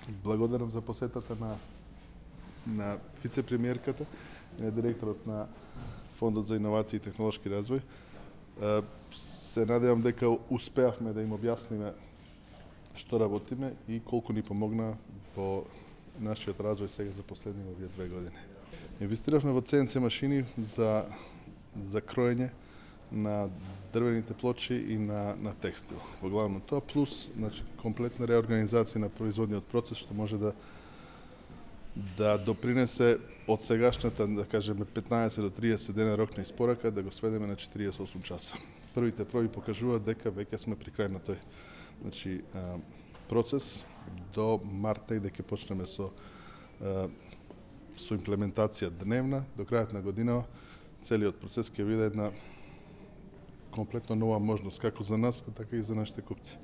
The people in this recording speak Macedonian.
Благодарам за посетата на вице-премиерката, на директорот на Фондот за иновации и технолошки развој. Се надевам дека успеавме да им објасниме што работиме и колку ни помогна во нашиот развој сега за последни овие 2 години. Инвестиравме во CNC машини за кроење на дрвените плочи и на текстил. Во главно тоа плюс комплетна реорганизација на производниот процес што може да допринесе од сегашната, да кажеме, 15 до 30 дена рок на испорака да го сведеме на 48 часа. Првите проби покажуваат дека веќе сме при крај на тој процес. До март дека почнеме со имплементација дневна, до крајот на година целиот процес ќе биде една комплетно нова можност како за нас, така и за нашите купци.